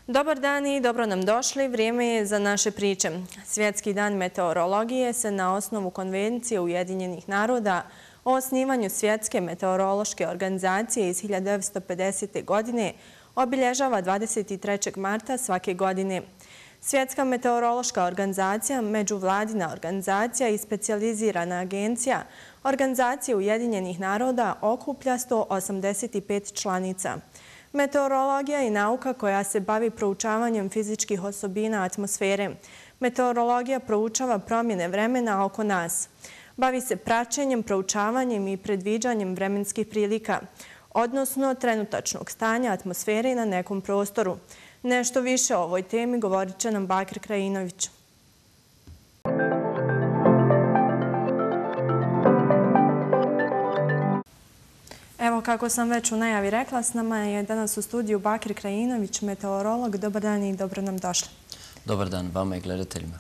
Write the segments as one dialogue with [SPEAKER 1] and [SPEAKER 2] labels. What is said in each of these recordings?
[SPEAKER 1] Dobar dan i dobro nam došli. Vrijeme je za naše priče. Svjetski dan meteorologije se na osnovu Konvencije Ujedinjenih naroda o osnivanju Svjetske meteorološke organizacije iz 1950. godine obilježava 23. marta svake godine. Svjetska meteorološka organizacija, međuvladina organizacija i specijalizirana agencija Organizacije Ujedinjenih naroda okuplja 185 članica. Meteorologija je nauka koja se bavi proučavanjem fizičkih osobina atmosfere. Meteorologija proučava promjene vremena oko nas. Bavi se praćenjem, proučavanjem i predviđanjem vremenskih prilika, odnosno trenutačnog stanja atmosfere na nekom prostoru. Nešto više o ovoj temi govorit će nam Bakir Krajinović. Evo, kako sam već u najavi rekla, s nama je danas u studiju Bakir Krajinović, meteorolog. Dobar dan i dobro nam došli.
[SPEAKER 2] Dobar dan vama i gledateljima.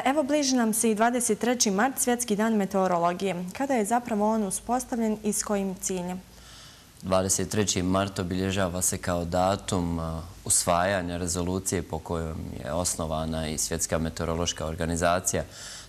[SPEAKER 1] Evo, bliži nam se i 23. mart, Svjetski dan meteorologije. Kada je zapravo on uspostavljen i s kojim ciljem?
[SPEAKER 2] 23. mart obilježava se kao datum usvajanja rezolucije po kojom je osnovana i Svjetska meteorološka organizacija.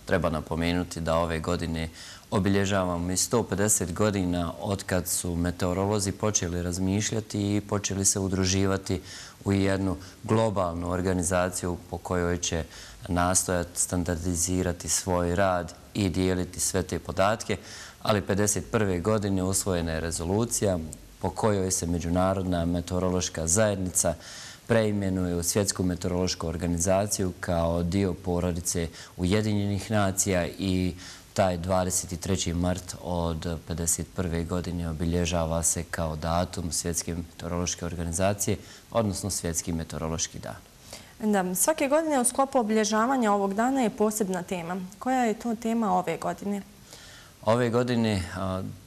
[SPEAKER 2] Treba napomenuti da ove godine obilježavamo i 150 godina od kad su meteorolozi počeli razmišljati i počeli se udruživati u jednu globalnu organizaciju po kojoj će nastojati standardizirati svoj rad i dijeliti sve te podatke, ali 1951. godine usvojena je rezolucija po kojoj se Međunarodna meteorološka zajednica preimenuje u Svjetsku meteorološku organizaciju kao dio porodice Ujedinjenih nacija i taj 23. mart od 1951. godine obilježava se kao datum Svjetske meteorološke organizacije, odnosno Svjetski meteorološki dan.
[SPEAKER 1] Da, svake godine u sklopu obilježavanja ovog dana je posebna tema. Koja je to tema ove godine?
[SPEAKER 2] Ove godine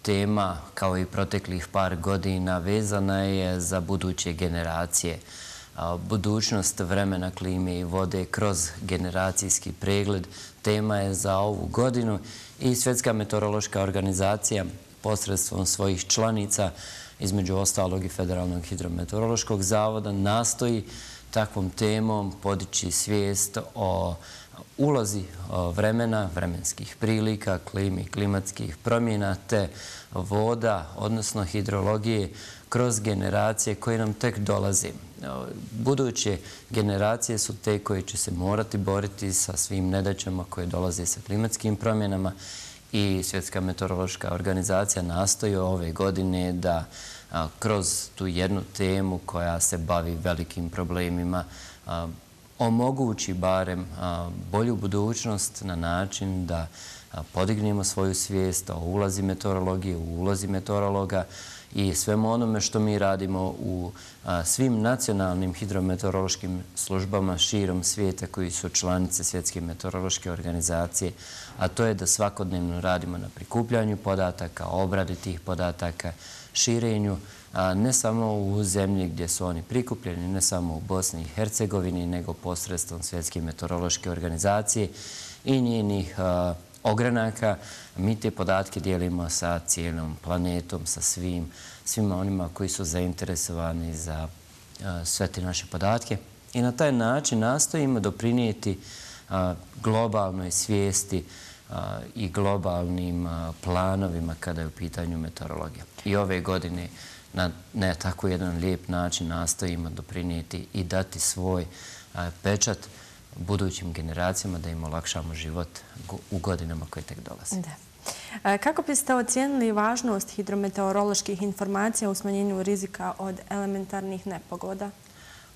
[SPEAKER 2] tema, kao i proteklih par godina, vezana je za buduće generacije. Budućnost vremena, klime i vode kroz generacijski pregled tema je za ovu godinu i Svjetska meteorološka organizacija posredstvom svojih članica, između ostalog i Federalnog hidrometeorološkog zavoda, nastoji takvom temom podići svijest o ulozi vremena, vremenskih prilika, klimi, klimatskih promjena te voda, odnosno hidrologije, kroz generacije koje nam tek dolaze. Buduće generacije su te koje će se morati boriti sa svim nedaćama koje dolaze sa klimatskim promjenama i Svjetska meteorološka organizacija nastoji ove godine da kroz tu jednu temu koja se bavi velikim problemima omogući barem bolju budućnost na način da podignemo svoju svijest o ulozi meteorologije, u ulozi meteorologa i svemu onome što mi radimo u svim nacionalnim hidrometeorološkim službama širom svijeta koji su članice Svjetske meteorološke organizacije, a to je da svakodnevno radimo na prikupljanju podataka, obradi tih podataka, širenju, ne samo u zemlji gdje su oni prikupljeni, ne samo u Bosni i Hercegovini, nego posredstvom Svjetske meteorološke organizacije i njenih ogranaka. Mi te podatke dijelimo sa cijelom planetom, sa svima onima koji su zainteresovani za sve te naše podatke. I na taj način nastojimo doprinijeti globalnoj svijesti i globalnim planovima kada je u pitanju meteorologija. I ove godine na tako jedan lijep način nastojimo doprinijeti i dati svoj pečat budućim generacijama da im olakšamo život u godinama koje tek dolaze.
[SPEAKER 1] Kako biste ocijenili važnost hidrometeoroloških informacija u smanjenju rizika od elementarnih nepogoda?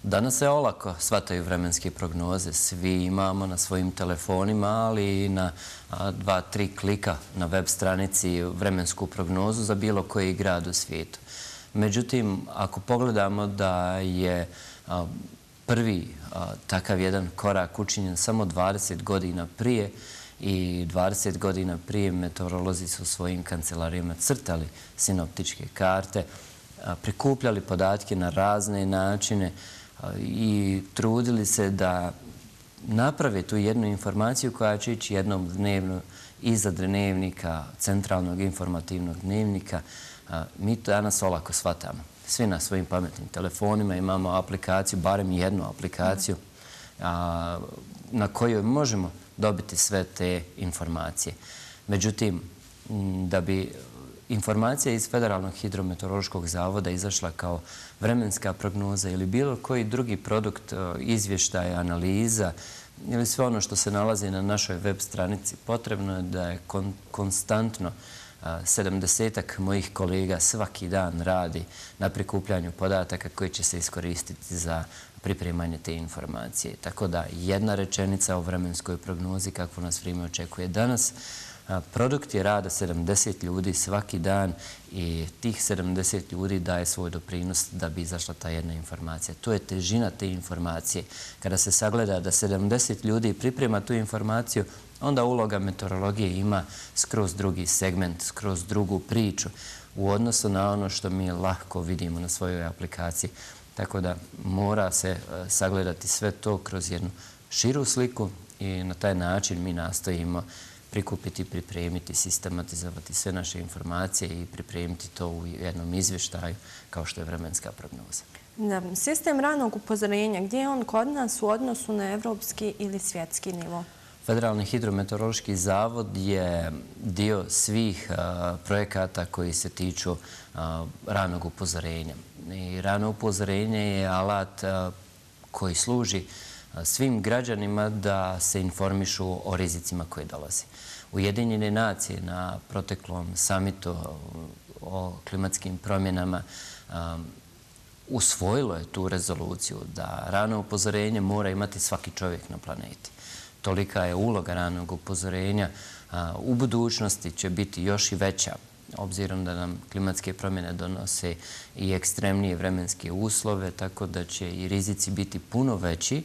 [SPEAKER 2] Danas se olako shvataju vremenske prognoze. Svi imamo na svojim telefonima, ali i na 2-3 klika na web stranici vremensku prognozu za bilo koji grad u svijetu. Međutim, ako pogledamo da je prvi takav jedan korak učinjen samo 20 godina prije i 20 godina prije meteorolozi su u svojim kancelarijama crtali sinoptičke karte, prikupljali podatke na razne načine i trudili se da naprave tu jednu informaciju koja će ići jednom dnevno iza dnevnika, centralnog informativnog dnevnika. Mi to danas olako shvatamo. svi na svojim pametnim telefonima imamo aplikaciju, barem jednu aplikaciju na kojoj možemo dobiti sve te informacije. Međutim, da bi informacija iz Federalnog hidrometeorološkog zavoda izašla kao vremenska prognoza ili bilo koji drugi produkt izvještaja, analiza ili sve ono što se nalazi na našoj web stranici, potrebno je da je konstantno 70-ak mojih kolega svaki dan radi na prikupljanju podataka koji će se iskoristiti za pripremanje te informacije. Tako da jedna rečenica o vremenskoj prognozi kakvu nas vrijeme očekuje danas. Produkt je rada 70 ljudi svaki dan i tih 70 ljudi daje svoj doprinos da bi izašla ta jedna informacija. To je težina te informacije. Kada se sagleda da 70 ljudi priprema tu informaciju, onda uloga meteorologije ima skroz drugi segment, skroz drugu priču u odnosu na ono što mi lahko vidimo na svojoj aplikaciji. Tako da mora se sagledati sve to kroz jednu širu sliku i na taj način mi nastojimo prikupiti, pripremiti, sistematizovati sve naše informacije i pripremiti to u jednom izvještaju kao što je vremenska prognoza.
[SPEAKER 1] Sistem ranog upozorenja, gdje je on kod nas u odnosu na evropski ili svjetski nivo?
[SPEAKER 2] Federalni hidrometeorološki zavod je dio svih projekata koji se tiču ranog upozorenja. I rano upozorenje je alat koji služi svim građanima da se informišu o rizicima koji dolaze. Ujedinjene nacije na proteklom samitu o klimatskim promjenama usvojilo je tu rezoluciju da rano upozorenje mora imati svaki čovjek na planeti. Tolika je uloga ranog upozorenja. U budućnosti će biti još i veća, obzirom da nam klimatske promjene donose i ekstremnije vremenske uslove, tako da će i rizici biti puno veći.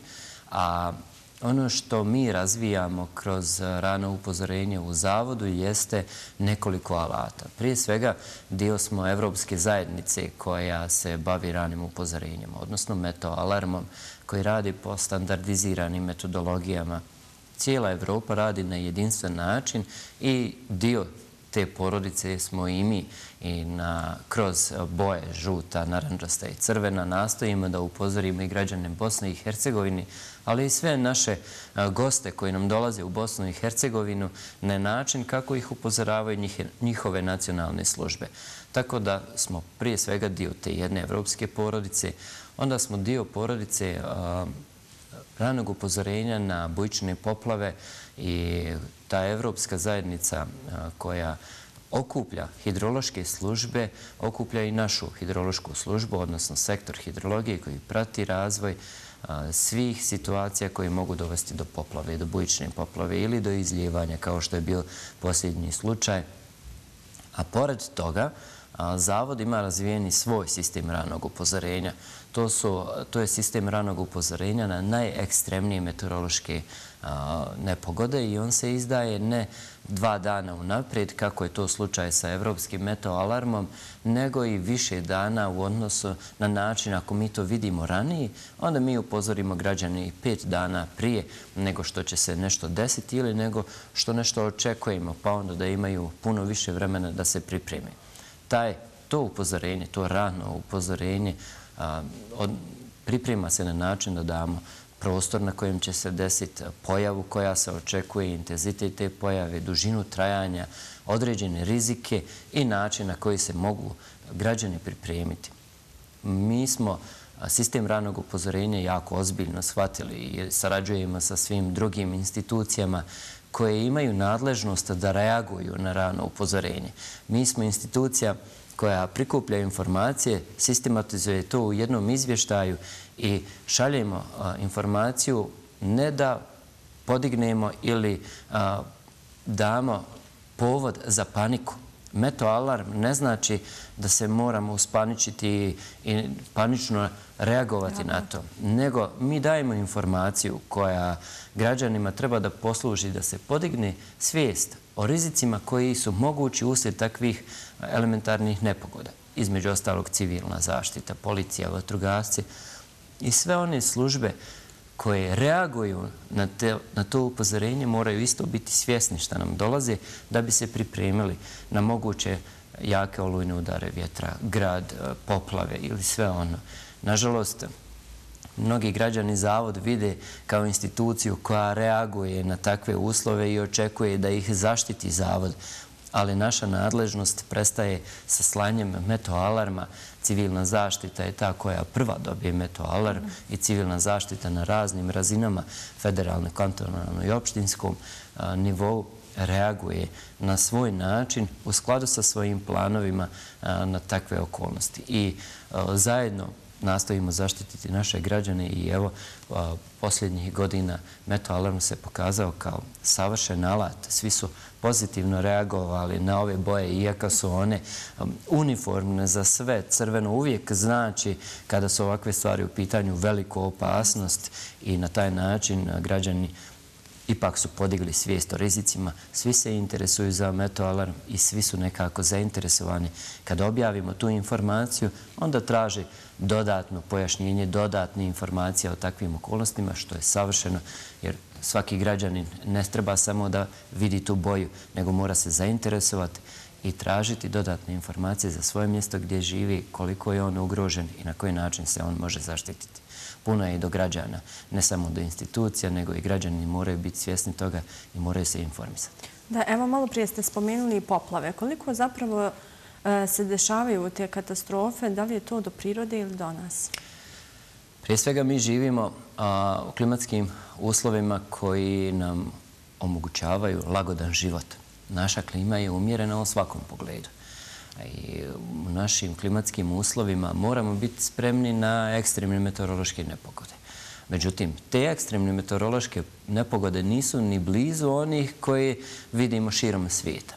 [SPEAKER 2] A ono što mi razvijamo kroz rano upozorenje u zavodu jeste nekoliko alata. Prije svega, dio smo Evropske zajednice koja se bavi ranim upozorenjem, odnosno meteoalarmom, koji radi po standardiziranim metodologijama. Cijela Evropa radi na jedinstven način i dio te porodice smo i mi i kroz boje žuta, narančasta i crvena nastojimo da upozorimo i građane Bosne i Hercegovine, ali i sve naše goste koji nam dolaze u Bosnu i Hercegovinu na način kako ih upozoravaju njihove nacionalne službe. Tako da smo prije svega dio te jedne evropske porodice, onda smo dio porodice ranog upozorenja na bujične poplave i ta evropska zajednica koja okuplja hidrološke službe, okuplja i našu hidrološku službu, odnosno sektor hidrologije koji prati razvoj svih situacija koje mogu dovesti do poplave, do bujične poplave ili do izljevanja, kao što je bio posljednji slučaj. A pored toga, Zavod ima razvijeni svoj sistem ranog upozorenja. To je sistem ranog upozorenja na najekstremnije meteorološke nepogode i on se izdaje ne 2 dana unaprijed, kako je to slučaj sa Evropskim meteoalarmom, nego i više dana u odnosu na način ako mi to vidimo ranije, onda mi upozorimo građane 5 dana prije nego što će se nešto desiti ili nego što nešto očekujemo, pa onda da imaju puno više vremena da se pripreme. To upozorenje, to rano upozorenje priprema se na način da damo prostor na kojem će se desiti pojavu koja se očekuje, intenzitet te pojave, dužinu trajanja, određene rizike i način na koji se mogu građani pripremiti. Mi smo sistem ranog upozorenja jako ozbiljno shvatili i sarađujemo sa svim drugim institucijama koje imaju nadležnost da reaguju na rano upozorenje. Mi smo institucija koja prikuplja informacije, sistematizuje to u jednom izvještaju i šaljemo informaciju ne da podignemo ili damo povod za paniku. Meteoalarm ne znači da se moramo uspaničiti i panično reagovati na to, nego mi dajemo informaciju koja građanima treba da posluži da se podigne svijest o rizicima koji su mogući uslijed takvih elementarnih nepogoda. Između ostalog civilna zaštita, policija, vatrogasci i sve one službe koje reaguju na to upozorenje moraju isto biti svjesni šta nam dolaze da bi se pripremili na moguće jake olujne udare vjetra, grad, poplave ili sve ono. Nažalost, mnogi građani zavod vide kao instituciju koja reaguje na takve uslove i očekuje da ih zaštiti zavod, ali naša nadležnost prestaje sa slanjem meteoalarma. Civilna zaštita je ta koja prva dobije meteoalarm i civilna zaštita na raznim razinama, federalno, kantonalno i opštinskom nivou, reaguje na svoj način u skladu sa svojim planovima na takve okolnosti. I zajedno nastojimo zaštititi naše građane i evo, posljednjih godina meteoalarm se pokazao kao savršen alat. Svi su pozitivno reagovali na ove boje, iako su one uniformne za sve. Crveno uvijek znači, kada su ovakve stvari u pitanju, veliku opasnost i na taj način građani ipak su podigli svijest o rizicima. Svi se interesuju za meteoalarm i svi su nekako zainteresovani. Kada objavimo tu informaciju, onda traži dodatno pojašnjenje, dodatne informacije o takvim okolnostima, što je savršeno, jer svaki građanin ne treba samo da vidi tu boju, nego mora se zainteresovati i tražiti dodatne informacije za svoje mjesto gdje živi, koliko je on ugrožen i na koji način se on može zaštititi. Puno je i do građana, ne samo do institucija, nego i građani moraju biti svjesni toga i moraju se informisati.
[SPEAKER 1] Da, evo malo prije ste spomenuli i poplave. Koliko zapravo se dešavaju te katastrofe? Da li je to do prirode ili do nas?
[SPEAKER 2] Prije svega mi živimo u klimatskim uslovima koji nam omogućavaju lagodan život. Naša klima je umjerena u svakom pogledu. I u našim klimatskim uslovima moramo biti spremni na ekstremne meteorološke nepogode. Međutim, te ekstremne meteorološke nepogode nisu ni blizu onih koji vidimo širom svijeta.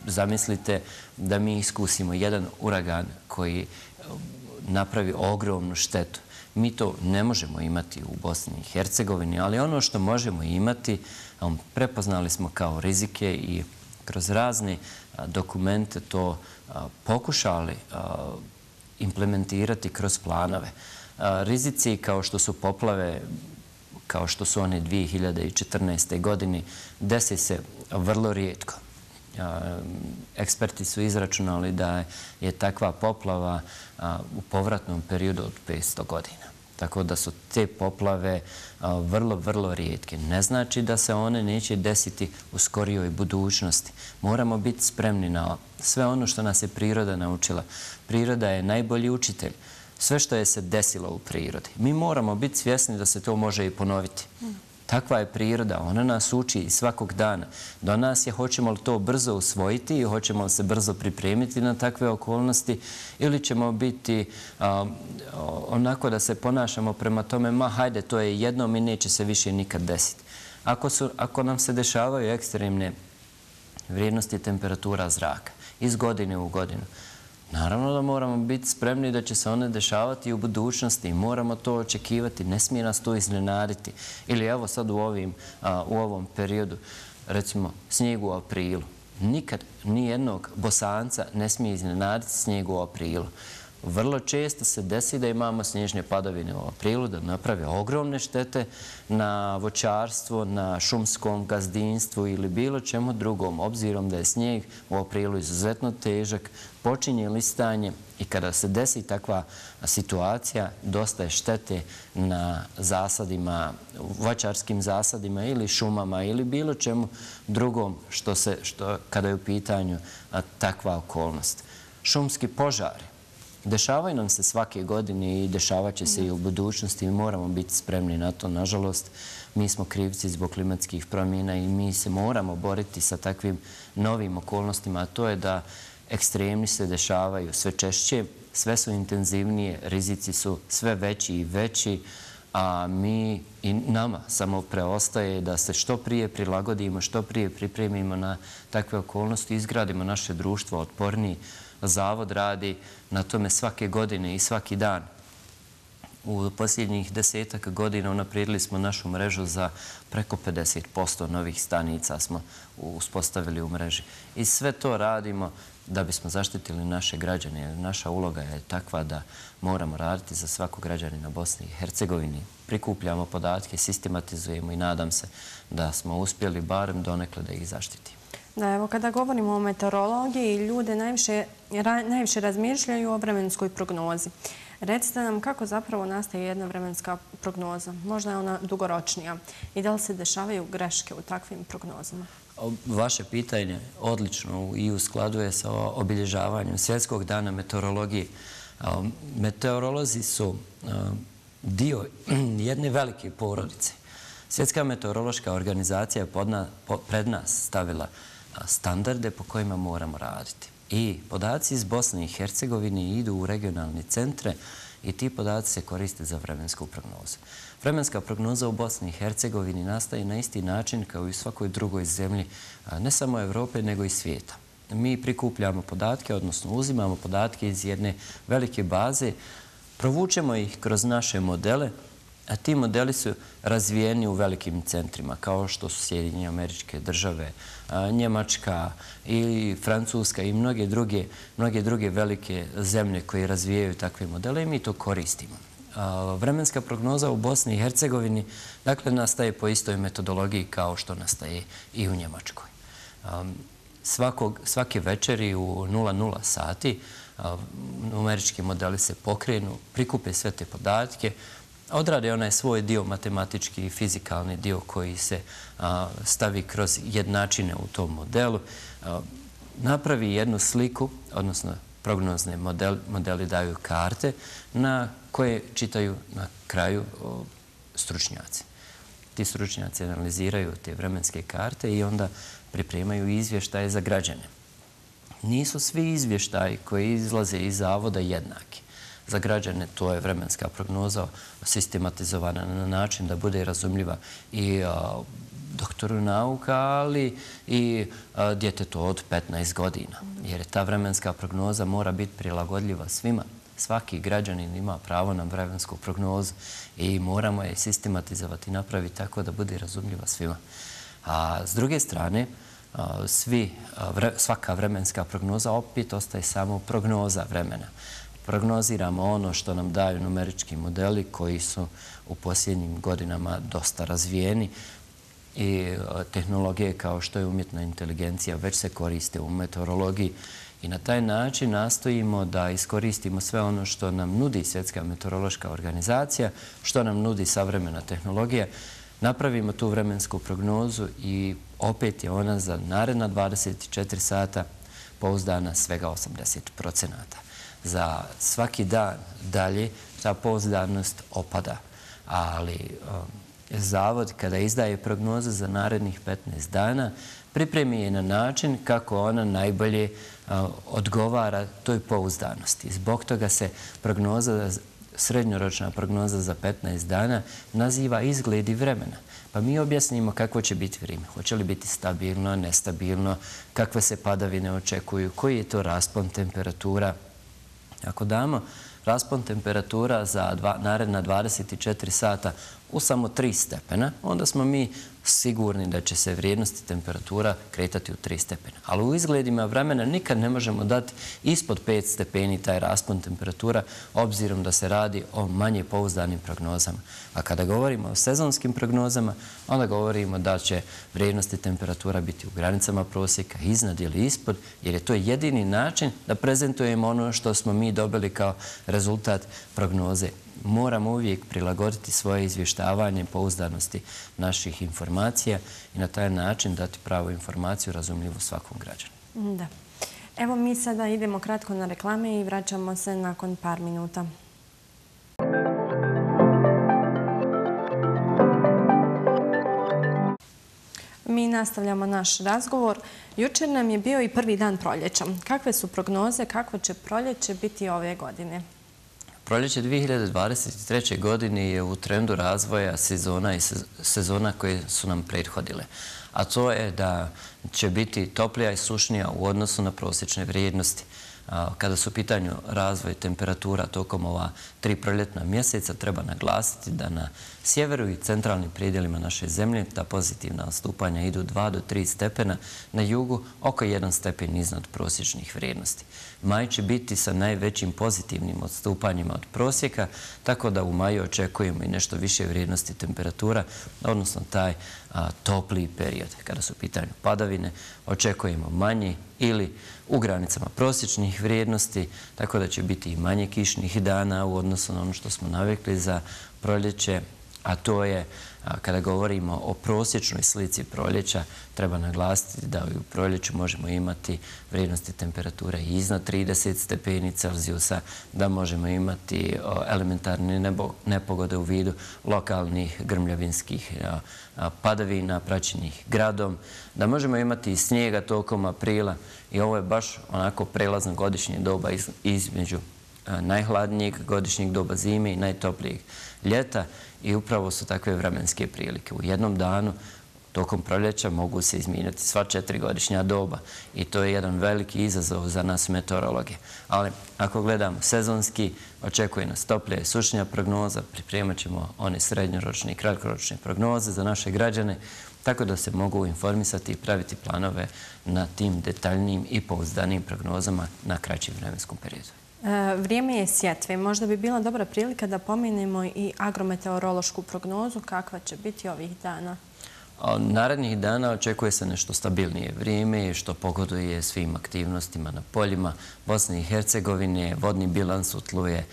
[SPEAKER 2] Zamislite da mi iskusimo jedan uragan koji napravi ogromnu štetu. Mi to ne možemo imati u Bosni i Hercegovini, ali ono što možemo imati, prepoznali smo kao rizike i kroz razne dokumente to pokušali implementirati kroz planove. Rizici kao što su poplave, kao što su one 2014. godine, desi se vrlo rijetko. Eksperti su izračunali da je takva poplava u povratnom periodu od 500 godina. Tako da su te poplave vrlo, vrlo rijetke. Ne znači da se one neće desiti u skorijoj budućnosti. Moramo biti spremni na sve ono što nas je priroda naučila. Priroda je najbolji učitelj. Sve što je se desilo u prirodi. Mi moramo biti svjesni da se to može i ponoviti. Takva je priroda, ona nas uči i svakog dana. Do nas je hoćemo li to brzo usvojiti i hoćemo li se brzo pripremiti na takve okolnosti ili ćemo biti onako da se ponašamo prema tome, ma hajde, to je jednom i neće se više nikad desiti. Ako nam se dešavaju ekstremne vrijednosti temperatura zraka iz godine u godinu, naravno da moramo biti spremni da će se one dešavati i u budućnosti i moramo to očekivati. Ne smije nas to iznenaditi. Ili evo sad u ovom periodu, recimo snijeg u aprilu. Nikad nijednog Bosanca ne smije iznenaditi snijeg u aprilu. Vrlo često se desi da imamo snježne padavine u aprilu, da naprave ogromne štete na voćarstvo, na šumskom gazdinstvu ili bilo čemu drugom. Obzirom da je snijeg u aprilu izuzetno težak, počinje listanje i kada se desi takva situacija, dosta je štete na zasadima, voćarskim zasadima ili šumama ili bilo čemu drugom kada je u pitanju takva okolnost. Šumski požari dešavaju nam se svake godine i dešavat će se i u budućnosti i moramo biti spremni na to. Nažalost, mi smo krivci zbog klimatskih promjena i mi se moramo boriti sa takvim novim okolnostima, a to je da ekstremni se dešavaju sve češće, sve su intenzivnije, rizici su sve veći i veći, a mi i nama samo preostaje da se što prije prilagodimo, što prije pripremimo na takve okolnosti, izgradimo naše društvo otporniji. Zavod radi na tome svake godine i svaki dan. U posljednjih 10 godina unaprijedili smo našu mrežu za preko 50% novih stanica smo uspostavili u mreži. I sve to radimo da bismo zaštitili naše građane. Naša uloga je takva da moramo raditi za svakog građanina Bosne i Hercegovine. Prikupljamo podatke, sistematizujemo i nadam se da smo uspjeli barem donekle da ih zaštitimo.
[SPEAKER 1] Da, evo, kada govorimo o meteorologiji, ljude najviše razmišljaju o vremenskoj prognozi. Recite nam kako zapravo nastaje jedna vremenska prognoza. Možda je ona dugoročnija. I da li se dešavaju greške u takvim prognozama?
[SPEAKER 2] Vaše pitanje odlično i u skladu je sa obilježavanjem Svjetskog dana meteorologije. Meteorolozi su dio jedne velike porodice. Svjetska meteorološka organizacija je pred nas stavila standarde po kojima moramo raditi. I podaci iz Bosne i Hercegovine idu u regionalne centre i ti podaci se koriste za vremensku prognozu. Vremenska prognoza u Bosni i Hercegovini nastaje na isti način kao i u svakoj drugoj zemlji, ne samo Evrope, nego i svijeta. Mi prikupljamo podatke, odnosno uzimamo podatke iz jedne velike baze, provučemo ih kroz naše modele, a ti modeli su razvijeni u velikim centrima, kao što su Sjedinjene Američke Države, Njemačka i Francuska i mnoge druge velike zemlje koje razvijaju takve modele i mi to koristimo. Vremenska prognoza u Bosni i Hercegovini dakle nastaje po istoj metodologiji kao što nastaje i u Njemačkoj. Svake večeri u 00 sati numerički modeli se pokrenu, prikupe sve te podatke, odrade onaj svoj dio matematički i fizikalni dio koji se stavi kroz jednačine u tom modelu, napravi jednu sliku, odnosno prognozni modeli daju karte na koje čitaju na kraju stručnjaci. Ti stručnjaci analiziraju te vremenske karte i onda pripremaju izvještaje za građane. Nisu svi izvještaji koji izlaze iz zavoda jednaki. Za građane to je vremenska prognoza sistematizovana na način da bude razumljiva i doktoru nauka, ali i djetetu od 15 godina. Jer ta vremenska prognoza mora biti prilagodljiva svima. Svaki građanin ima pravo na vremensku prognozu i moramo je sistematizovati i napraviti tako da bude razumljiva svima. A s druge strane, svaka vremenska prognoza opet ostaje samo prognoza vremena. Prognoziramo ono što nam daju numerički modeli koji su u posljednjim godinama dosta razvijeni i tehnologije kao što je umjetna inteligencija već se koriste u meteorologiji i na taj način nastojimo da iskoristimo sve ono što nam nudi Svjetska meteorološka organizacija, što nam nudi savremena tehnologija, napravimo tu vremensku prognozu i opet je ona za naredna 24 sata pouzdana svega 80%. Za svaki dan dalje ta pouzdanost opada, ali Zavod kada izdaje prognoze za narednih 15 dana pripremi je na način kako ona najbolje odgovara toj pouzdanosti. Zbog toga se srednjoročna prognoza za 15 dana naziva izgledi vremena. Pa mi objasnimo kako će biti vrijeme. Hoće li biti stabilno, nestabilno, kakve se padavine očekuju, koji je to raspon temperatura. Ako damo raspon temperatura za naredna 24 sata u samo 3 stepena, onda smo mi sigurni da će se vrijednosti temperatura kretati u 3 stepena. Ali u izgledima vremena nikad ne možemo dati ispod 5 stepeni taj raspon temperatura, obzirom da se radi o manje pouzdanim prognozama. A kada govorimo o sezonskim prognozama, onda govorimo da će vrijednosti temperatura biti u granicama prosjeka, iznad ili ispod, jer je to jedini način da prezentujemo ono što smo mi dobili kao rezultat prognoze. Moramo uvijek prilagoditi svoje izvještavanje pouzdanosti naših informacija i na taj način dati pravu informaciju razumljivu svakom građanu.
[SPEAKER 1] Da. Evo mi sada idemo kratko na reklame i vraćamo se nakon par minuta. Mi nastavljamo naš razgovor. Jučer nam je bio i prvi dan proljeća. Kakve su prognoze, kakvo će proljeće biti ove godine?
[SPEAKER 2] Proljeće 2023. godine je u trendu razvoja sezona koje su nam prethodile. A to je da će biti toplija i sušnija u odnosu na prosječne vrijednosti. Kada su u pitanju razvoj temperatura tokom ova 3 proljetna mjeseca, treba naglasiti da na sjeveru i centralnim predjelima naše zemlje ta pozitivna odstupanja idu 2 do 3 stepena, na jugu oko 1 stepen iznad prosječnih vrijednosti. Maj će biti sa najvećim pozitivnim odstupanjima od prosjeka, tako da u maju očekujemo i nešto više vrijednosti temperatura, odnosno taj topliji period. Kada su u pitanju padavine, očekujemo manji ili u granicama prosječnih vrijednosti, tako da će biti i manje kišnih dana u odnosu na ono što smo navikli za proljeće, a to je, kada govorimo o prosječnoj slici proljeća, treba naglasiti da u proljeću možemo imati vrijednosti temperature iznad 30 stepeni Celzijusa, da možemo imati elementarne nepogode u vidu lokalnih grmljavinskih padavina praćenih gradom, da možemo imati i snijega tokom aprila i ovo je baš onako prelazno godišnje doba između najhladnijeg godišnjeg doba zime i najtoplijeg ljeta i upravo su takve vremenske prilike. U jednom danu tokom proljeća mogu se izmijeniti sva 4 godišnja doba i to je jedan veliki izazov za nas meteorologe. Ali ako gledamo sezonski, očekuje nas toplija i sušnija prognoza, pripremat ćemo one srednjoročne i kratkoročne prognoze za naše građane, tako da se mogu informisati i praviti planove na tim detaljnim i pouzdanim prognozama na kraćem vremenskom periodu.
[SPEAKER 1] Vrijeme je sjetve. Možda bi bila dobra prilika da pomenemo i agrometeorološku prognozu kakva će biti ovih dana.
[SPEAKER 2] Narednih dana očekuje se nešto stabilnije vrijeme što pogoduje svim aktivnostima na poljima Bosne i Hercegovine. Vodni bilans u tlu je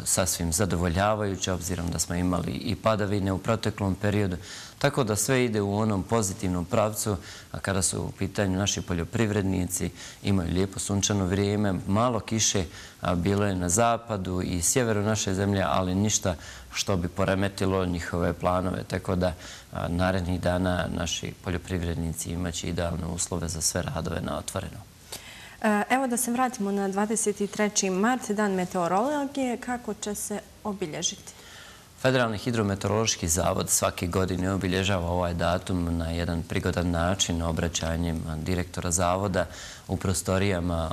[SPEAKER 2] sasvim zadovoljavajući, obzirom da smo imali i padavine u proteklom periodu. Tako da sve ide u onom pozitivnom pravcu, a kada su u pitanju naši poljoprivrednici, imaju lijepo sunčano vrijeme, malo kiše bilo je na zapadu i sjeveru naše zemlje, ali ništa što bi poremetilo njihove planove. Tako da narednih dana naši poljoprivrednici imaće idealne uslove za sve radove na otvoreno.
[SPEAKER 1] Evo da se vratimo na 23. mart, dan meteorologije. Kako će se obilježiti?
[SPEAKER 2] Federalni hidrometeorološki zavod svake godine obilježava ovaj datum na jedan prigodan način obraćanjem direktora zavoda u prostorijama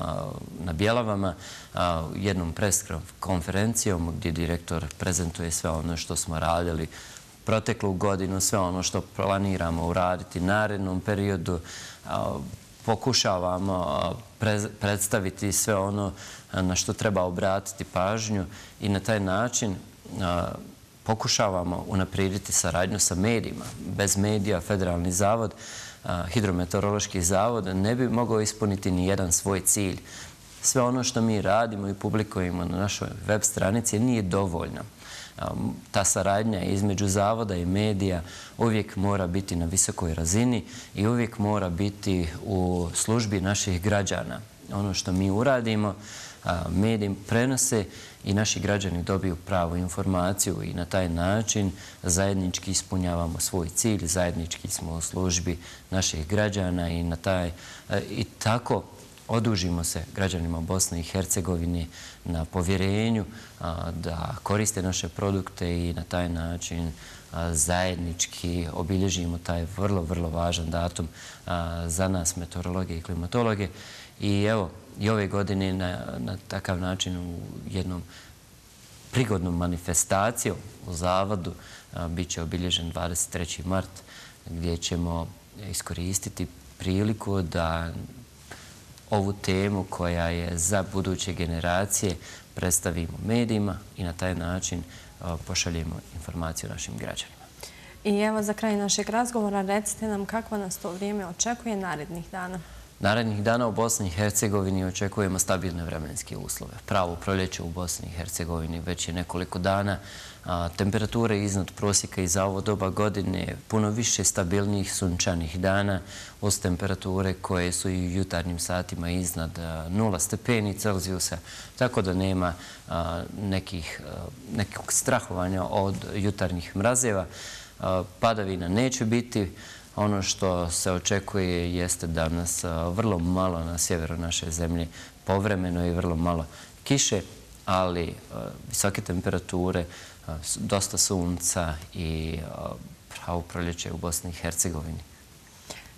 [SPEAKER 2] na Bjelavama, jednom pres konferencijom gdje direktor prezentuje sve ono što smo radili proteklu godinu, sve ono što planiramo uraditi narednom periodu. Pokušavamo predstaviti sve ono na što treba obratiti pažnju i na taj način pokušavamo unaprijediti saradnju sa medijima. Bez medija Federalni zavod, hidrometeorološki zavod, ne bi mogao ispuniti ni jedan svoj cilj. Sve ono što mi radimo i publikujemo na našoj web stranici nije dovoljno. Ta saradnja između zavoda i medija uvijek mora biti na visokoj razini i uvijek mora biti u službi naših građana. Ono što mi uradimo, mediji prenose i naši građani dobiju pravu informaciju i na taj način zajednički ispunjavamo svoj cilj, zajednički smo u službi naših građana i tako odužimo se građanima Bosne i Hercegovine na povjerenju da koriste naše produkte i na taj način zajednički obilježimo taj vrlo, vrlo važan datum za nas, meteorologe i klimatologe. I evo, i ove godine na takav način u jednom prigodnom manifestacijom u zavodu bit će obilježen 23. mart gdje ćemo iskoristiti priliku da ovu temu koja je za buduće generacije predstavimo medijima i na taj način pošaljemo informaciju našim građanima.
[SPEAKER 1] I evo za kraj našeg razgovora recite nam kako nas to vrijeme očekuje narednih dana.
[SPEAKER 2] Narednih dana u Bosni i Hercegovini očekujemo stabilne vremenske uslove. Pravo proljeće u Bosni i Hercegovini već je nekoliko dana. Temperature iznad prosjeka i za ovo doba godine, puno više stabilnijih sunčanih dana uz temperature koje su i u jutarnjim satima iznad 0 stepeni Celzijusa, tako da nema nekog strahovanja od jutarnjih mrazeva. Padavina neće biti. Ono što se očekuje jeste danas vrlo malo na sjeveru naše zemlje, povremeno i vrlo malo kiše, ali visoke temperature, dosta sunca i pravo proljeće u Bosni i Hercegovini.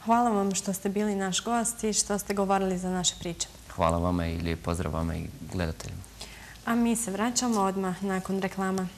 [SPEAKER 1] Hvala vam što ste bili naš gost i što ste govorili za naše priče.
[SPEAKER 2] Hvala vama i lijep pozdrav vama i gledateljima.
[SPEAKER 1] A mi se vraćamo odmah nakon reklama.